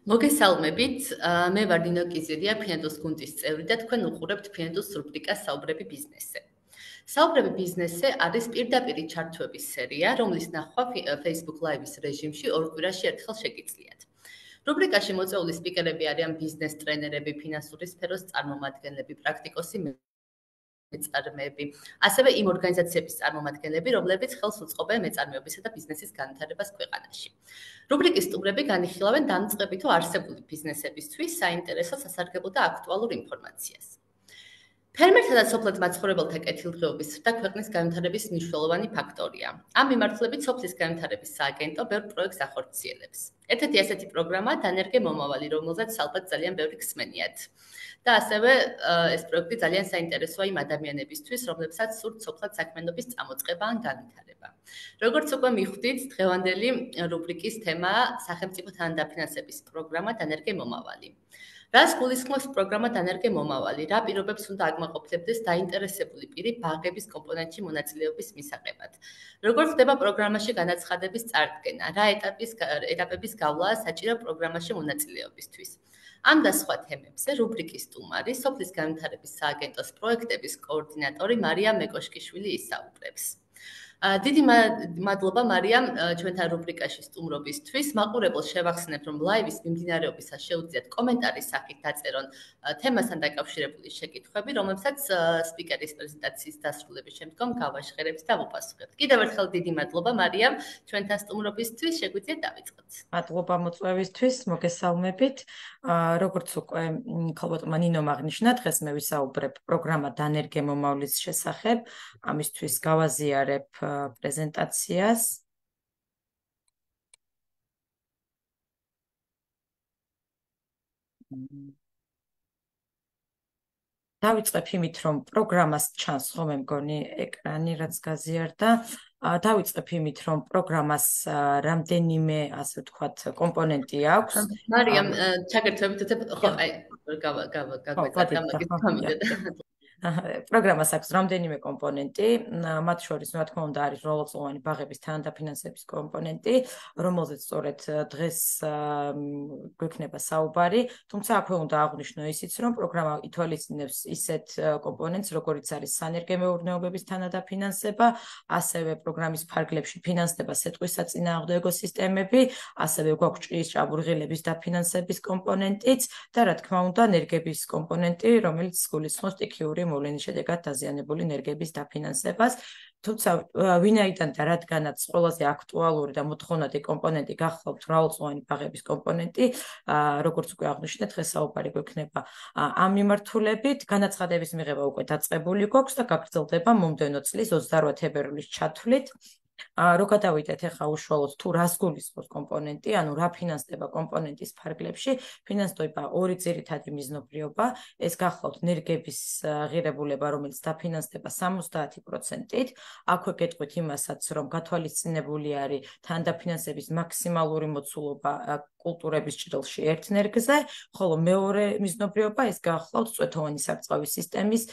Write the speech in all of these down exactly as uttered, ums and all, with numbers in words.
მოგესალმებით, მე ვარ ნინო კიზირია, ფინანსის გუნდის წევრი და თქვენ უყურებთ ფინანსის რუბრიკას საუბრები ბიზნესზე. საუბრები ბიზნესზე არის პირდაპირი ჩართვების სერია, რომლის ნახვა Facebook Live-ის რეჟიმში ორ კვირაში ერთხელ შეგიძლიათ. რუბრიკაში მოწვეული სპიკერები არიან ბიზნეს ტრენერები, ფინანსური სფეროს წარმომადგენლები, პრაქტიკოსი მეწარმეები, ასევე იმ ორგანიზაციების წარმომადგენლები, რომლებიც ხელს უწყობენ მეწარმეობისა და ბიზნესის განვითარებას ქვეყანაში. რუბრიკის სტუმრები განიხილავენ დამწყები თუ არსებული ბიზნესებისთვის საინტერესო, სასარგებლო და აქტუალურ ინფორმაციას. ფერმერთა და სოფლად მაცხოვრებელთა კეთილდღეობის და ქვეყნის განვითარების მნიშვნელოვანი ფაქტორია. ამ მიმართულებით სოფლის განვითარების სააგენტო ბევრ პროექტს ახორციელებს. ერთ-ერთი ასეთი პროგრამაა დანერგე მომავალი, რომელზეც ალბათ ძალიან ბევრი გსმენიათ. და ასევე ეს პროექტი ძალიან საინტერესოა იმ ადამიანებისთვის, რომლებსაც სურთ სოფლად საქმიანობის წამოწყება ან განვითარება. როგორც უკვე მიხვდით, დღევანდელი რუბრიკის თემაა სახელმწიფო თანადაფინანსების პროგრამა დანერგე მომავალი. რას გულისხმობს პროგრამა დანერგე მომავალი? რა პირობებს უნდა აკმაყოფილებდეს დაინტერესებული პირი ბაღების კომპონენტში მონაწილეობის მისაღებად? როგორ ხდება პროგრამაში განაცხადების წარდგენა? რა ეტაპის ეტაპების გავლაა საჭირო პროგრამაში მონაწილეობისთვის? ამ და სხვა თემებზე რუბრიკის სტუმარი, სოფლის განვითარების სააგენტოს პროექტების კოორდინატორი მარია მეკოშკიშვილი ისაუბრებს. დიდი მადლობა მარიამ ჩვენთან რუბრიკაში სტუმრობისთვის. მაყურებელს შევახსენებ, რომ ლაივის მიმდინარეობისას შეუძლიათ კომენტარის სახით დაწერონ თემასთან დაკავშირებული შეკითხვები, რომლებსაც სპიკერის პრეზენტაციის დასრულების შემდგომ გავაჟღერებთ და ვუპასუხებთ. კიდევ ერთხელ დიდი მადლობა მარიამ ჩვენთან სტუმრობისთვის. შეგვიძლიათ დავიწყოთ. მადლობა მოწვევისთვის, მოგესალმებით. როგორც უკვე ქალბატონმა ნინომ აღნიშნა, დღეს მე ვისაუბრებ პროგრამა დანერგე მომავლის შესახებ. ამისთვის გავაზიარებ პრეზენტაციას. დავიწყებ იმით, რომ პროგრამას ჩანს ხოლმე მგონი ეკრანი, რაც გაზიარდა. დავიწყებ იმით, რომ პროგრამას რამდენიმე, ასე ვთქვათ, კომპონენტი აქვს. მარიამ, ჩაგერთვებით, ხო, აი, გაგვეცადა მაგის გამიგდა. პროგრამას აქვს რამდენიმე კომპონენტი, მათ შორის, რა თქმა უნდა, არის როლოწლოვანი ბაღების თანადაფინანსების კომპონენტი, რომელზეც სწორედ დღეს გვექნება საუბარი, თუმცა აქვე უნდა აღვნიშნო ისიც, რომ პროგრამა ითვალისწინებს ისეთ კომპონენტს, როგორიც არის სანერგე მეურნეობების თანადაფინანსება, ასევე პროგრამის ფარგლებში ფინანსდება სეტყვის საწინააღმდეგო სისტემები, ასევე გვაქვს ჭიის ჭაბურღილების დაფინანსების კომპონენტიც და რა თქმა უნდა, ნერგების კომპონენტი, რომელიც გულისხმობს სტიქიური მოვლენის შედეგად დაზიანებული ნერგების დაფინანსებას. თუმცა ვინაიდან და რადგანაც ყველაზე აქტუალური და მოთხოვნადი კომპონენტი გახლავთ მრავალწლოვანი ბაღების კომპონენტი, როგორც უკვე აღვნიშნეთ, დღეს საუბარი გვექნება ამ მიმართულებით. განაცხადების მიღება უკვე დაწყებული გვაქვს და გაგრძელდება მომდევნო წლის ოცდაოთხ თებერვლის ჩათვლით. რო გადავიდეთ ახლა უშუალოდ თუ რას გულისხმობს კომპონენტი, ანუ რა ფინანსდება კომპონენტის ფარგლებში, ფინანსდება ორი ძირითადი მიზნობრიობა, ეს გახლავთ ნერგების ღირებულება, რომელიც დაფინანსდება სამოცდაათი პროცენტით, აქვე გეტყვით იმასაც, რომ გათვალისწინებული არის თანადაფინანსების მაქსიმალური მოცულობა კულტურების ჭრილში ერთ ნერგზე, ხოლო მეორე მიზნობრიობა ეს გახლავთ წვეთოვანი სარწყავი სისტემის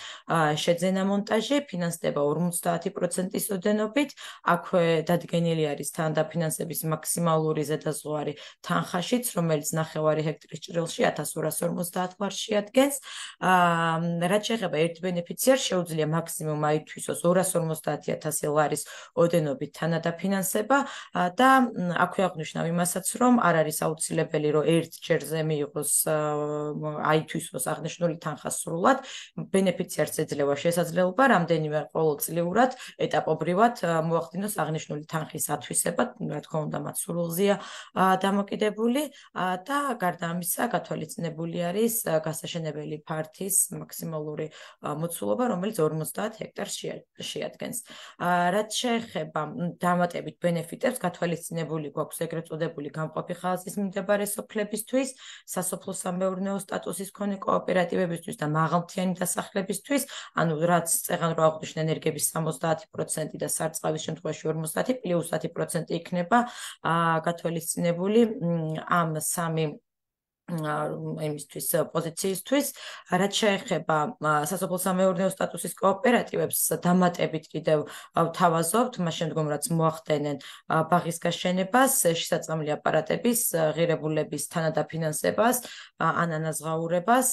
შეძენა მონტაჟი, ფინანსდება ორმოცდაათი პროცენტის ოდენობით, აქვე დადგენილი არის თანადაფინანსების მაქსიმალური ზედაზღვარი თანხაშიც, რომელიც ნახევარი ჰექტრის ჭრილში ათას ორას ორმოცდაათ ლარს შეადგენს. რაც შეეხება ერთ ბენეფიციარს, შეუძლია მაქსიმუმ აითვისოს ორას ორმოცდაათი ათასი ლარის ოდენობით თანადაფინანსება და აქვე აღვნიშნავ იმასაც, რომ არ არის აუცილებელი, რომ ერთ ჯერზე მიიღოს აითვისოს აღნიშნული თანხა სრულად, ბენეფიციარს ეძლევა შესაძლებლობა რამდენიმე ყოველწლიურად ეტაპობრივად მოახდინოს აღნიშნული თანხის ათვისება, რა თქმა უნდა, მათ სრულზეა დამოკიდებული და გარდა ამისა, გათვალისწინებული არის გასაშენებელი ფართის მაქსიმალური მოცულობა, რომელიც ორმოცდაათ ჰექტარს შეადგენს. რაც შეეხება დამატებით ბენეფიტებს, გათვალისწინებული გვაქვს ეგრეთ წოდებული გამყოფი ხაზის მიმდებარე სოფლებისთვის, სასოფლო-სამეურნეო სტატუსის მქონე კოოპერატივებისთვის და მაღალმთიანი დასახლებისთვის, ანუ რაც წეღან რო აღვნიშნე ენერგების სამოცდაათი პროცენტი და სარწყავის შემთხვევაში ორმოცდაათი პლუს ათი პროცენტი იქნება გათვალისწინებული ამ სამი იმისთვის პოზიციისთვის, რაც შეეხება სასოფლო-სამეურნეო სტატუსის კოოპერატივებს, დამატებით კიდევ ვთავაზობთ, მას შემდგომ რაც მოახდენენ ბაღის გაშენებას, შესაძლებელი აპარატების, ღირებულების თანადაფინანსებას, ან ანაზღაურებას,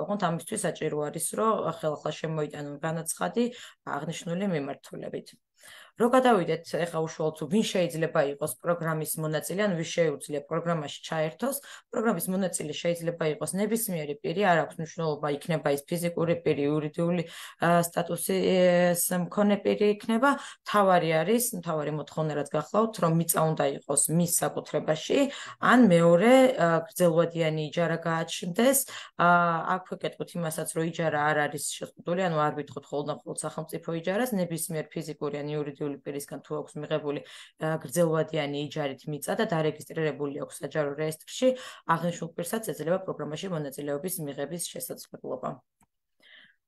ოღონდ ამისთვის საჭირო არის, რომ ხელახლა შემოიტანონ განაცხადი აღნიშნული მიმართულებით. რო გადავიდეთ ეხლა უშუალოდ ვინ შეიძლება იყოს პროგრამის მონაწილე, ან ვის შეუძლია პროგრამაში ჩაერთოს, პროგრამის მონაწილე შეიძლება იყოს ნებისმიერი პირი, არ აქვს მნიშვნელობა იქნება ის ფიზიკური პირი, იურიდიული სტატუსის მქონე პირი იქნება, თავარი არის, თავარი მოთხოვნა რაც გახლავთ, რომ მიწა უნდა იყოს მის საკუთრებაში, ან მეორე გრძელვადიანი იჯარა გააჩნდეს, აქ ვეკეთებთ იმასაც, რომ იჯარა არ არის შეზღუდული, ანუ არ ვითხოვთ მხოლოდ და მხოლოდ სახელმწიფო იჯარას, ნებისმიერ ფიზიკური ან იურიდიული პირისგან თუ აქვს მიღებული გრძელვადიანი იჯარით მიწა და დარეგისტრირებული აქვს საჯარო რეესტრში, აღნიშნულ პირსაც ეძლევა პროგრამაში მონაწილეობის მიღების შესაძლებლობა.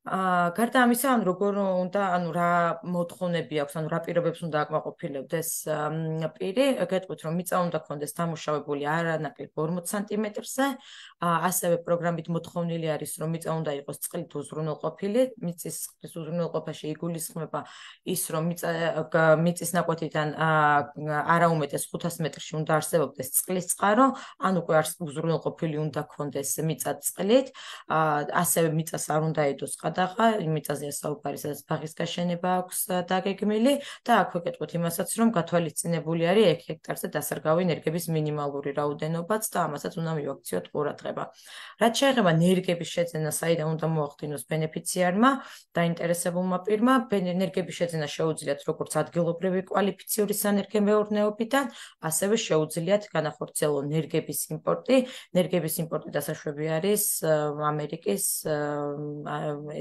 გარდა ამისა, ან როგორ უნდა, ანუ რა მოთხოვნები აქვს, ანუ რა პირობებს უნდა აკმაყოფილებდეს პირი, გეტყვით, რომ მიწა უნდა ქონდეს დამუშავებული არანაკლებ ორმოც სანტიმეტრზე, ასევე პროგრამით მოთხოვნილი არის, რომ მიწა უნდა იყოს წყლით უზრუნველყოფილი, მიწის წყლის უზრუნველყოფაში იგულისხმება ის, რომ მიწა მიწის ნაკვეთიდან არა უმეტეს ხუთას მეტრში უნდა არსებობდეს წყლის წყარო, ან უკვე უზრუნველყოფილი უნდა ქონდეს მიწა წყლით, ასევე მიწას არ უნდა ედოს ყადაღა, მიწაზეა საუბარი, სადაც ბაღის გაშენება აქვს დაგეგმილი და აქ ვეკეთებთ იმასაც, რომ გათვალისწინებული არის ერთ ჰექტარზე დასარგავი ნერგების მინიმალური რაოდენობაც და ამასაც უნდა მივაქციოთ ყურადღება. რაც შეეხება ნერგების შეძენა, საიდან უნდა მოახდინოს ბენეფიციარმა, დაინტერესებულმა პირმა, ნერგების შეძენა შეუძლიათ როგორც ადგილობრივი კვალიფიციური სანერგემეურნეობიდან, ასევე შეუძლიათ განახორციელონ ნერგების იმპორტი. ნერგების იმპორტი დასაშვები არის ამერიკის,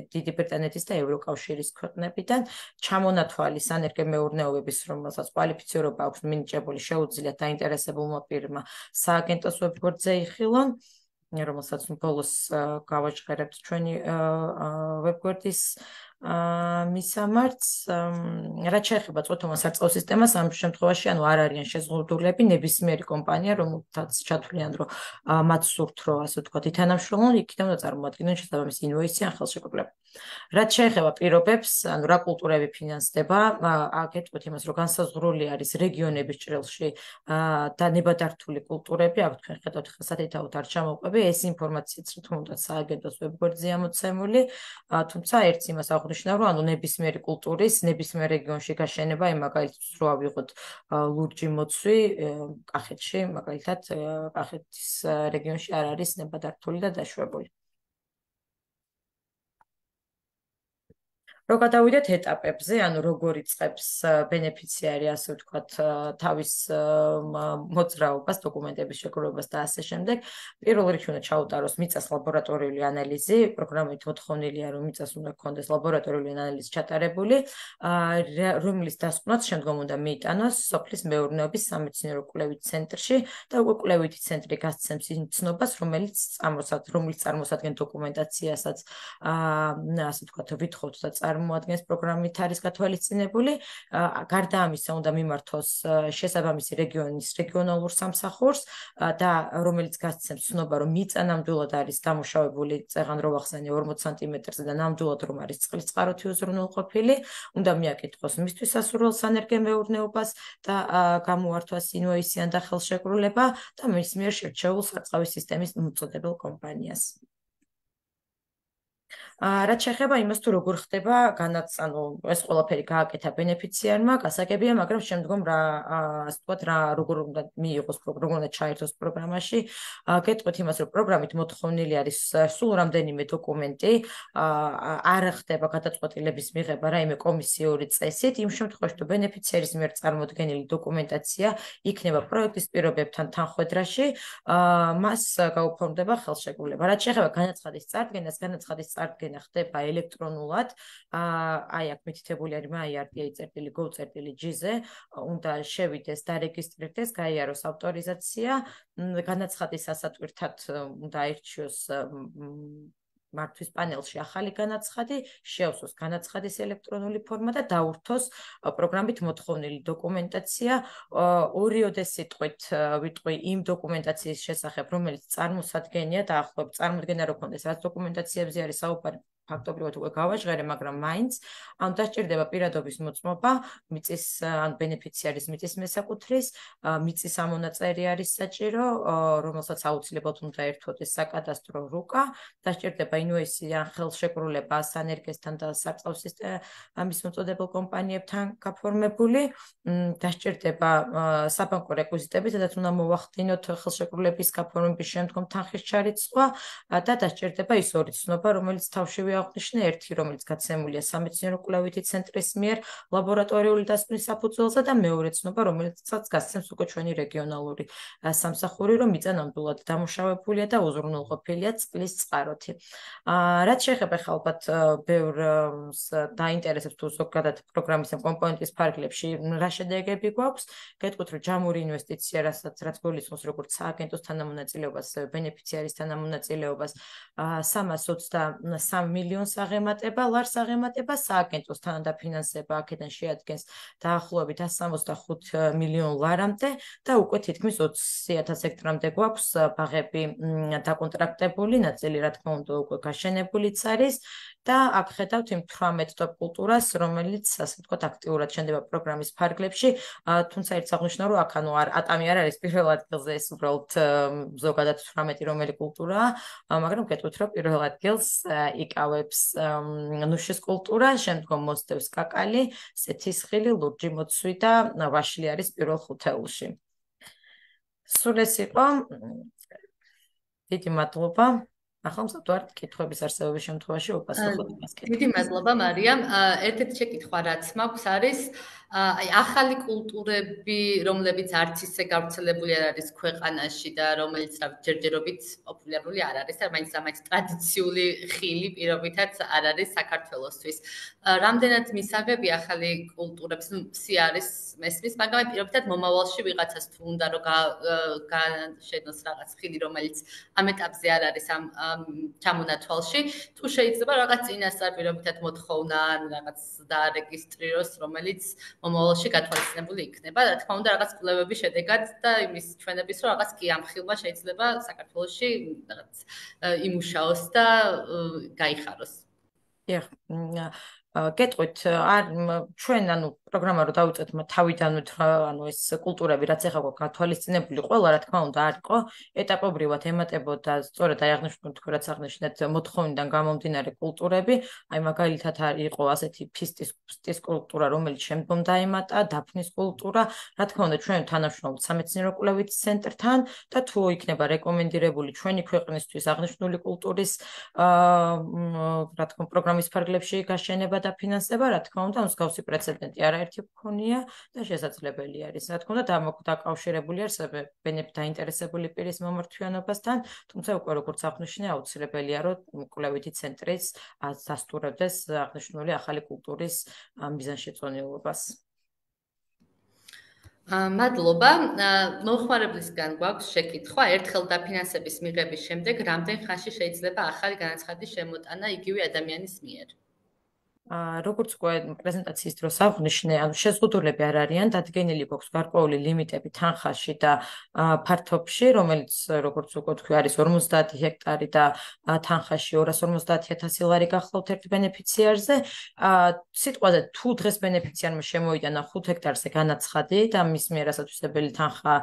დიდი ბრიტანეთის და ევროკავშირის ქვეყნებიდან, ჩამონათვალი სანერგემეურნეობების, რომელსაც კვალიფიცირება აქვს მინიჭებული, შეუძლიათ დაინტერესებულმა პირმა სააგენტოს ვებგვერდზე იხილონ, რომელსაც ბოლოს გავაჟღერებთ ჩვენი ვებგვერდის მისამართს, რაც შეეხება წოთომას სარწყავ სისტემას, ამ შემთხვევაში ანუ არ არიან შეზღუდულები, ნებისმიერი კომპანია, რომელთაც ჩათვლიან, რომ მათ სურთ, რომ ასე ვთქვათ, ითანამშრომლონ, იქიდან უნდა წარმოადგინონ შესაბამისი ინვოისი ან ხელშეკრულება. რაც შეეხება პირობებს, ანუ რა კულტურები ფინანსდება, აკეთებთ იმას, რომ განსაზღვრული არის რეგიონების ჭრილში და ნებადართული კულტურები, აქ თქვენ ხედავთ ხა სათითაოდ არ ჩამოვყვები, ეს ინფორმაციაც რა თქმა უნდა სააგენტოს ვებგვერდზეა მოცემული, თუმცა ერთს იმას აღნიშნავ, რომ ანუ ნებისმიერი კულტურის, ნებისმიერ რეგიონში გაშენება, იმ მაგალითად რო ავიღოთ ლურჯი მოცვი კახეთში, მაგალითად კახეთის რეგიონში არ არის ნებადართული და დაშვებული. რო გადავიდეთ ეტაპებზე, ანუ როგორ იწყებს ბენეფიციარი, ასე ვთქვათ, თავის მოძრაობას, დოკუმენტების შეგროვებას და ასე შემდეგ, პირველ რიგში უნდა ჩაუტაროს მიწას ლაბორატორიული ანალიზი, პროგრამით მოთხოვნილია, რომ მიწას უნდა ქონდეს ლაბორატორიული ანალიზი ჩატარებული, რომლის დასკვნაც შემდგომ უნდა მიიტანოს სოფლის მეურნეობის სამეცნიერო კვლევით ცენტრში და უკვე კვლევითი ცენტრი გასცემს იმ ცნობას, რომელიც რომელიც წარმოსადგენს დოკუმენტაციასაც, ასე ვთქვათ, ვითხოვთ და წარმოადგენს პროგრამით არის გათვალისწინებული, გარდა ამისა უნდა მიმართოს შესაბამისი რეგიონის რეგიონალურ სამსახურს და რომელიც გასცემს ცნობა, რომ მიწა ნამდვილად არის დამუშავებული, წეღან რო ვახსენე ორმოც სანტიმეტრზე და ნამდვილად რომ არის წყლის წყაროთი უზრუნველყოფილი, უნდა მიაკითხოს მისთვის სასურველ სანერგემეურნეობას და გამოართვას ინვოისი ან და ხელშეკრულება და მის მიერ შერჩეულ სარწყავი სისტემის მოწოდებელ კომპანიას. რაც შეეხება იმას, თუ როგორ ხდება განაც, ანუ ეს ყველაფერი გააკეთა ბენეფიციარმა, გასაგებია, მაგრამ შემდგომ რა, ასე ვთქვათ, რა როგორ უნდა მიიღოს პროგრამა, როგორ უნდა ჩაერთოს პროგრამაში, გეტყვით იმას, რომ პროგრამით მოთხოვნილი არის სულ რამდენიმე დოკუმენტი, არ ხდება გადაწყვეტილების მიღება რაიმე კომისიური წესით, იმ შემთხვევაში, თუ ბენეფიციარის მიერ წარმოდგენილი დოკუმენტაცია იქნება პროექტის პირობებთან თანხვედრაში, მას გაუფორმდება ხელშეკრულება. რაც შეეხება განაცხადის წარდგენას, განაცხადის წარდგენა ხდება ელექტრონულად, აი აქ მითითებული არის my.r.t.gov.gz-ზე, უნდა შევიდეს, დარეგისტრირდეს, გაიაროს ავტორიზაცია, განაცხადის ასატვირთად უნდა აირჩიოს მართვის პანელში ახალი განაცხადი, შეავსოს განაცხადის ელექტრონული ფორმა და დაურთოს პროგრამით მოთხოვნილი დოკუმენტაცია. ორიოდე სიტყვით ვიტყვი იმ დოკუმენტაციის შესახებ, რომელიც წარმოსადგენია და ახლობ წარმოდგენა რო ქონდეს, რაც დოკუმენტაციებზე არის საუბარი, ფაქტობრივად უკვე გავაჟღერე, მაგრამ მაინც ამ დასჭირდება პირადობის მოწმობა, მიწის ან ბენეფიციარის მიწის მესაკუთრის, მიწის ამონაწერი არის საჭირო, რომელსაც აუცილებლად უნდა ერთვოდეს საკადასტრო რუკა, დასჭირდება ინვოისი ან ხელშეკრულება სანერგესთან და სარწყავ ამის მოწოდებელ კომპანიებთან გაფორმებული, დასჭირდება საბანკო რეკვიზიტები, სადაც უნდა მოვახდინოთ ხელშეკრულების გაფორმების შემდგომ თანხის ჩარიცხვა და დასჭირდება ის ორი ცნობა, რომელიც თავშივე აღნიშნე, ერთი, რომელიც გაცემულია სამეცნიერო კვლევითი ცენტრის მიერ ლაბორატორიული დასკვნის საფუძველზე და მეორე ცნობა, რომელიცაც გასცემს უკვე ჩვენი რეგიონალური სამსახური, რომ მიწა ნამდვილად დამუშავებულია და უზრუნველყოფილია წყლის წყაროთი. რაც შეეხება ხა ალბათ ბევრს დაინტერესებს თუ ზოგადად პროგრამის ამ კომპონენტის ფარგლებში რა შედეგები გვაქვს, გეტყვით, რომ ჯამური ინვესტიცია, რასაც რაც გულისხმობს როგორც სააგენტოს თანამონაწილეობას, ბენეფიციარის თანამონაწილეობას, სამას ოცდასამ მილიონს აღემატება, ლარს აღემატება, სააგენტოს თანადაფინანსება აქედან შეადგენს დაახლოებით εκατს სამოცდახუთ მილიონ ლარამდე და უკვე თითქმის ოცი ათას ჰექტარამდე გვაქვს ბაღები დაკონტრაქტებული, ნაწილი რა თქმა უნდა უკვე გაშენებულიც არის და აქ ხედავთ იმ თვრამეტ ტოპ კულტურას, რომელიც ასე ვთქვათ აქტიურად შენდება პროგრამის ფარგლებში, თუმცა ერთ აღნიშნავ, რომ აქ ანუ ატამი არ არის პირველ ადგილზე, ეს უბრალოდ ზოგადად თვრამეტი რომელი კულტურაა, მაგრამ გეტყვით, რომ პირველ ადგილს იკავებს ნუშის კულტურა, შემდგომ მოსდევს კაკალი, სეთისხილი, ლურჯი მოცვი და ვაშლი არის პირველ ხუთეულში. სულ ეს იყო. დიდი მადლობა. ახლა მსაჯულად კითხვების არსებობის შემთხვევაში უპასუხოთ იმას. დიდი მადლობა მარიამ. ერთ-ერთი შეკითხვა რაც მაქვს არის აი ახალი კულტურები, რომლებიც არც ისე გავრცელებული არ არის ქვეყანაში და რომელიც ჯერჯერობით პოპულარული არ არის, და მაინც ამაინც ტრადიციული ხილი პირობითაც არ არის საქართველოსთვის. რამდენად მისაღები ახალი კულტურებს, ნუ სი არის მესმის, მაგრამ პირობითად მომავალში ვიღაცას თუ უნდა რომ განშენოს რაღაც ხილი, რომელიც ამ ეტაპზე არ არის ამ ჩამონათვალში, თუ შეიძლება რაღაც წინასწარ პირობითად მოთხოვნა ან რაღაც დაარეგისტრიროს, რომელიც მომავალში გათვალისწინებული იქნება. რა თქმა უნდა, რაღაც კვლევების შედეგად და იმის ჩვენების, რომ რაღაც კი ამ ხილმა შეიძლება საქართველოში რაღაც იმუშაოს და გაიხაროს. დიახ. გეტყვით, არ ჩვენ ანუ პროგრამა რო დავიწყეთ თავიდანვე ანუ ეს კულტურები რაც ეხლა გვაქვს გათვალისწინებული, ყველა რა თქმა უნდა არ იყო, ეტაპობრივად ემატებოდა სწორედ აი აღნიშნულ თქვენ რაც აღნიშნეთ მოთხოვნიდან გამომდინარე კულტურები, აი მაგალითად იყო ასეთი ფისტის ფისტის კულტურა, რომელიც შემდგომ დაემატა, დაფნის კულტურა, რა თქმა უნდა ჩვენ თანამშრომლობთ სამეცნიერო კვლევით ცენტრთან და თუ იქნება რეკომენდირებული ჩვენი ქვეყნისთვის აღნიშნული კულტურის რა თქმა უნდა პროგრამის ფარგლებში გაშენება და ფინანსება, რა თქმა უნდა, მსგავსი პრეცედენტი არაერთი გქონია და შესაძლებელი არის. რა თქმა უნდა, დაკავშირებული არსებე ბენეფით დაინტერესებული პირის მომართვიანობასთან, თუმცა უკვე როგორც აღნიშნე, აუცილებელია, რომ კვლევითი ცენტრის დასტურებდეს აღნიშნული ახალი კულტურის მიზანშეწონილობას. მადლობა. მომხმარებლისგან გვაქვს შეკითხვა, ერთხელ დაფინანსების მიღების შემდეგ რამდენ ხანში შეიძლება ახალი განაცხადის შემოტანა იგივე ადამიანის მიერ? როგორც უკვე პრეზენტაციის დროს აღნიშნე, ანუ შეზღუდულები არ არიან, დადგენილი გვაქვს გარკვეული ლიმიტები თანხაში და ფართობში, რომელიც როგორც უკვე თქვი არის ორმოცდაათი ჰექტარი და თანხაში ორას ორმოცდაათი ათასი ლარი გახლავთ ერთ ბენეფიციარზე. სიტყვაზე თუ დღეს ბენეფიციარმა შემოიტანა ხუთ ჰექტარზე განაცხადი და მის მიერ ასათვისებელი თანხა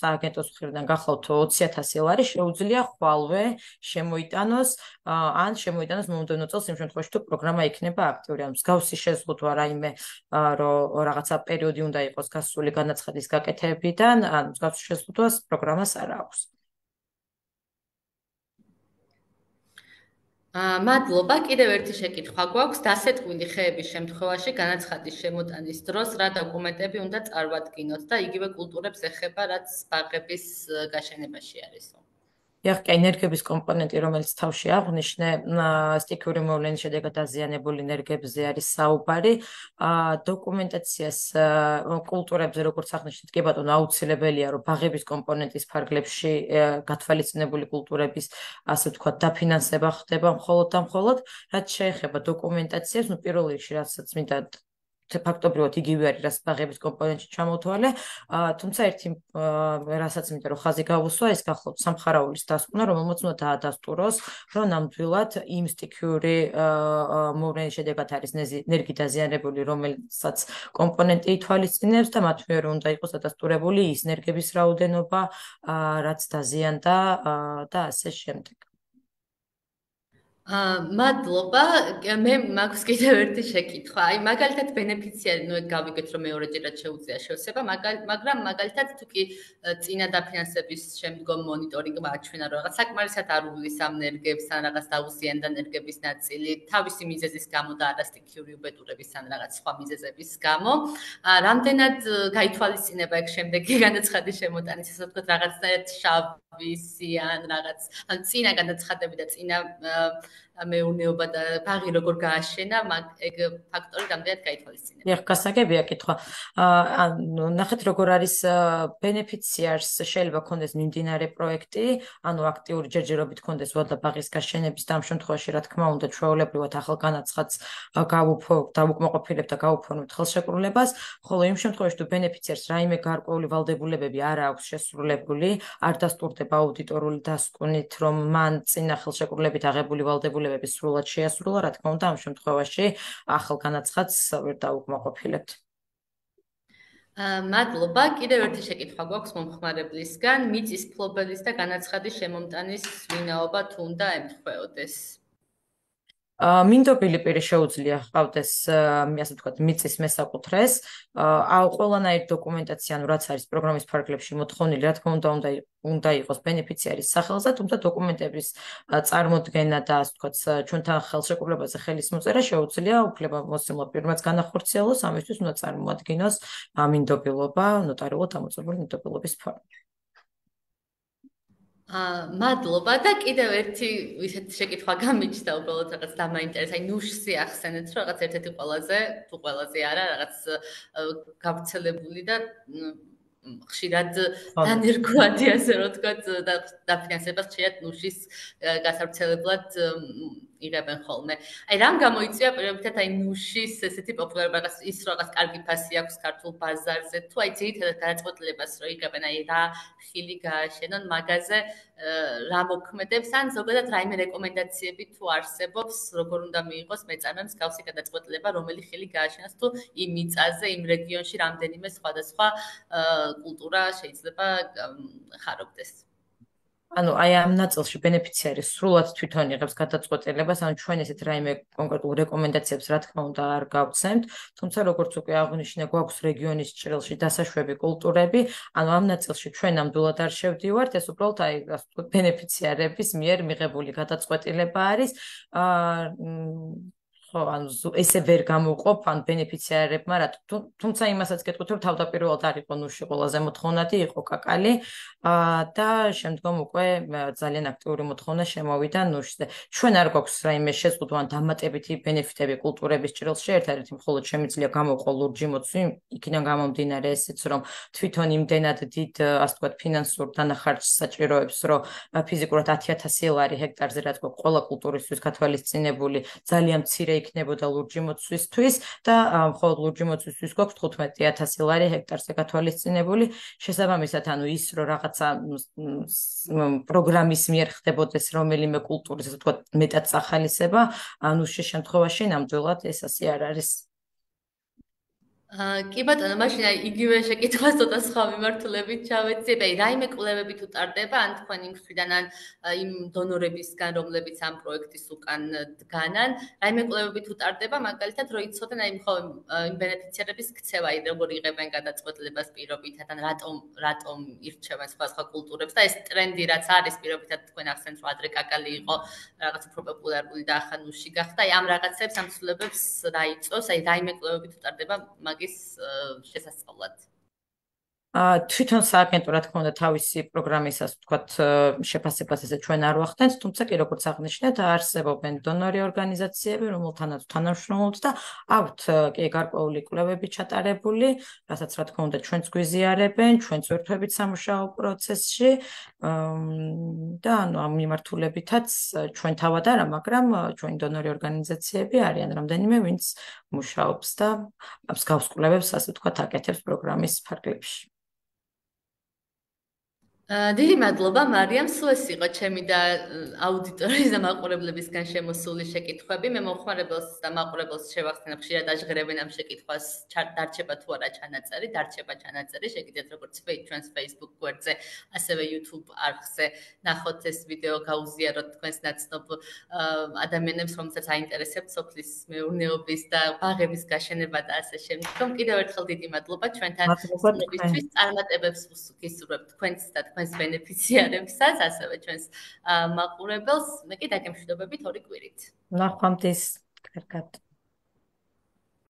სააგენტოს მხრიდან გახლავთ ოცი ათასი ლარი, შეუძლია ხვალვე შემოიტანოს ან შემოიტანოს მომდევნო წელს იმ შემთხვევაში თუ პროგრამა იქნება აქტიური, ან მსგავსი შეზღუდვა რაიმე რომ რაღაცა პერიოდი უნდა იყოს გასული განაცხადის გაკეთებიდან, ან მსგავსი შეზღუდვას პროგრამას არ აქვს. მადლობა. კიდევ ერთი შეკითხვა გვაქვს. დასეტყვილი ხეების შემთხვევაში განაცხადის შემოტანის დროს რა დოკუმენტები უნდა წარვადგინოთ და იგივე კულტურებს ეხება, რაც ბაღების გაშენებაში არისო? ეხლა ენერგების კომპონენტი, რომელიც თავში აღვნიშნე, სტიქიური მოვლენის შედეგად დაზიანებული ენერგიებზე არის საუბარი. დოკუმენტაციას კულტურებზე, როგორც აღნიშნეთ, კი ბატონო, აუცილებელია, რომ ბაღების კომპონენტის ფარგლებში გათვალისწინებული კულტურების, ასე ვთქვათ, დაფინანსება ხდება მხოლოდ და მხოლოდ, რაც შეეხება დოკუმენტაციას, ნუ პირველ რიგში, რასაც მინდა ფაქტობრივად იგივე არის, რაც ბაღების კომპონენტში ჩამოთვალე, თუმცა ერთი რასაც მინდა რომ ხაზი გავუსვა, ეს გახლავთ სამხარაულის დასკვნა, რომელმაც უნდა დაადასტუროს, რომ ნამდვილად იმ სტიქიური მოვლენის შედეგად არის ენერგი დაზიანებული, რომელსაც კომპონენტი ითვალისწინებს და მათ მიერ უნდა იყოს დადასტურებული ის ენერგების რაოდენობა, რაც დაზიანდა და ასე შემდეგ. მადლობა. მე მაქვს კიდევ ერთი შეკითხვა. აი, მაგალითად, ბენეფიციარი, ნუ ეგ გავიგეთ, რომ მეორეჯერად შეუძლია შევსება, მაგრამ მაგალითად, თუ კი წინა დაფინანსების შემდგომ მონიტორინგმა აჩვენა, რომ რაღაც საკმარისად არ უვლის ამ ენერგიებს, ან რაღაც დაუზიანდა ენერგების ნაწილი, თავისი მიზეზის გამო და არასტიქიური უბედურების ან რაღაც სხვა მიზეზების გამო, რამდენად გაითვალისწინება ეგ შემდეგი განაცხადის შემოტანის, ასე ვთქვათ, რაღაცნაირად შავისი ან რაღაც, ან წინა განაცხადები და წინა მეურნეობა და ბაღი როგორ გააშენა, მაგ ეგ ფაქტორი რამდენად გაითვალისწინება. ეხლა გასაგებია კითხვა. ანუ ნახეთ როგორ არის ბენეფიციარს შეიძლება ქონდეს მიმდინარე პროექტი, ანუ აქტიური ჯერჯერობით ქონდეს ვალდა ბაღის გაშენების და ამ შემთხვევაში რა თქმა უნდა ჩვეულებრივად ახალ განაცხადს დავუკმაყოფილებთ და გავუფორმებთ ხელშეკრულებას, ხოლო იმ შემთხვევაში თუ ბენეფიციარს რაიმე გარკვეული ვალდებულებები არ აქვს შესრულებული, არ დასტურდება აუდიტორული დასკვნით, რომ მან წინა ხელშეკრულებით აღებული ვალდებულებები სრულად შეასრულა, რა თქმა უნდა, ამ შემთხვევაში ახალ განაცხადს ვერ დავუკმაყოფილებთ. მადლობა. კიდევ ერთი შეკითხვა გვაქვს მომხმარებლისგან. მიწის ფლობელის და განაცხადის შემომტანის ვინაობა თუ უნდა ემთხვეოდეს? მინდობილი პირი შეუძლია ჰყავდეს, ასე ვთქვათ, მიწის მესაკუთრეს, ყველანაირი დოკუმენტაცია, ანუ რაც არის პროგრამის ფარგლებში მოთხოვნილი, რა თქმა უნდა, უნდა უნდა იყოს ბენეფიციარის სახელზე, თუმცა დოკუმენტების წარმოდგენა და ასე ვთქვათ, ჩვენთან ხელშეკრულებაზე ხელის მოწერა შეუძლია უფლებამოსილმა პირმაც განახორციელოს, ამისთვის უნდა წარმოადგინოს მინდობილობა, ნოტარიულად ამოწურებული მინდობილობის ფორმით. მადლობა და კიდევ ერთი ისეთი შეკითხვა გამიჩნდა, უბრალოდ რაღაც დამაინტერესა, აი ნუშსი ახსენეთ, რომ რაღაც ერთ-ერთი ყველაზე, თუ ყველაზე არა, რაღაც გავრცელებული და ხშირად დანერგვადი, ასე რომ ვთქვათ, და დაფინანსება ხშირად ნუშის გასავრცელებლად იღებენ ხოლმე. აი რამ გამოიწვია პირობითად აი ნუშის ესეთი პოპულარობა, რაღაც ის რაღაც კარგი ფასი აქვს ქართულ ბაზარზე, თუ აი ძირითადად გადაწყვეტილებას რო იღებენ, აი რა ხილი გააშენონ მაგაზე, რა მოქმედებს, ან ზოგადად რაიმე რეკომენდაციები თუ არსებობს, როგორ უნდა მიიღოს მეწარმემ მსგავსი გადაწყვეტილება, რომელი ხილი გააშენოს, თუ იმ მიწაზე, იმ რეგიონში რამდენიმე სხვადასხვა კულტურა შეიძლება ხარობდეს. ანუ აი ამ ნაწილში ბენეფიციარი სრულად თვითონ იღებს გადაწყვეტილებას, ანუ ჩვენ ესეთ რაიმე კონკრეტულ რეკომენდაციებს რა თქმა უნდა არ გავცემთ, თუმცა როგორც უკვე აღნიშნე, გვაქვს რეგიონის ჭრილში დასაშვები კულტურები, ანუ ამ ნაწილში ჩვენ ნამდვილად არ შევდივართ, ეს უბრალოდ აი ასე ვთქვათ ბენეფიციარების მიერ მიღებული გადაწყვეტილება არის. აა ხო, ანუ ესე ვერ გამოყოფ ან ბენეფიციარებმა რა, თუმცა იმასაც გეტყვით, რომ თავდაპირველად არ იყო ნუში ყველაზე მოთხოვნადი, იყო კაკალი და შემდგომ უკვე ძალიან აქტიური მოთხოვნა შემოვიდა ნუშზე. ჩვენ არ გვაქვს რაიმე შეზღუდვა ან დამატებითი ბენეფიტები კულტურების ჭრილში, ერთადერთი მხოლოდ შემიძლია გამოვყო ლურჯი მოცვი, იქიდან გამომდინარე ესეც, რომ თვითონ იმდენად დიდ, ასე ვთქვათ, ფინანსურ დანახარჯს საჭიროებს, რომ ფიზიკურად ათი ათასი ლარი ჰექტარზე რაც გვაქვს ყველა კულტურისთვის გათვალისწინებული, ძალიან მცირე იქნებოდა ლურჯი მოცვისთვის და მხოლოდ ლურჯი მოცვისთვის გვაქვს თხუთმეტი ათასი ლარი ჰექტარზე გათვალისწინებული. შესაბამისად, ანუ ის რომ რაღაცა პროგრამის მიერ ხდებოდეს რომელიმე კულტურის, ასე ვთქვათ, მეტად სახალისება, ანუ შემთხვევაში ნამდვილად ეს ასე არ არის. კი ბატონო, მაშინ აი იგივე შეკითხვას ცოტა სხვა მიმართულებით ჩავეცდები. აი რაიმე კვლევები თუ ტარდება ან თქვენი მხრიდან ან იმ დონორებისგან, რომლებიც ამ პროექტის უკან დგანან, რაიმე კვლევები თუ ტარდება, მაგალითად რო იცოდენ აი მხოლოდ იმ ბენეფიციარების ქცევა, აი როგორ იღებენ გადაწყვეტილებას პირობითად ან რატომ რატომ ირჩევენ სხვა სხვა კულტურებს და ეს ტრენდი რაც არის პირობითად თქვენ ახსენეთ რომ ადრე კაკალი იყო რაღაც უფრო პოპულარული და ახლა ნუში გახდა. აი ამ რაღაცებს ამ ცვლილებებს რა იწვევს, აი რაიმე კვლევები თუ ტარდება მაგის შესასწავლად. თვითონ სააგენტო რა თქმა უნდა თავისი პროგრამისას ვთქვათ შეფასებას ესე ჩვენ არ ვახდენთ, თუმცა კი როგორც აღნიშნეთ, არსებობენ დონორი ორგანიზაციები, რომელთანაც თანამშრომლობთ და აქვთ კი გარკვეული კვლევები ჩატარებული, რასაც რა თქმა უნდა ჩვენც გვიზიარებენ, ჩვენც ვერთვებით სამუშაო პროცესში და ანუ ამ მიმართულებითაც ჩვენ თავად არა, მაგრამ ჩვენი დონორი ორგანიზაციები არიან რამდენიმე, ვინც მუშაობს და მსგავს კვლევებს, ასე ვთქვათ, აკეთებს პროგრამის ფარგლებში. დიდი მადლობა მარიამ, სულ ეს იყო ჩემი და აუდიტორიის და მაყურებლებისგან შემოსული შეკითხვები. მე მომხმარებელს და მაყურებელს შევახსენებ, ხშირად აჟღერებენ ამ შეკითხვას, დარჩება თუ არა ჩანაწერი, დარჩება ჩანაწერი, შეგიძლიათ როგორც ჩვენს Facebook გვერდზე, ასევე YouTube არხზე ნახოთ ეს ვიდეო, გაუზიაროთ თქვენს ნაცნობ ადამიანებს, რომელსაც აინტერესებთ სოფლის მეურნეობის და ბაღების გაშენება და ასე შემდგომ. კიდევ ერთხელ დიდი მადლობა ჩვენთან სტუმრებისთვის, წარმატებებს გისურვებთ თქვენს და თქვენს ბენეფიციარებსაც, ასევე ჩვენს მაყურებელს. მე კი დაგემშვიდობებით ორი კვირით. ნახვამდის, კარგად.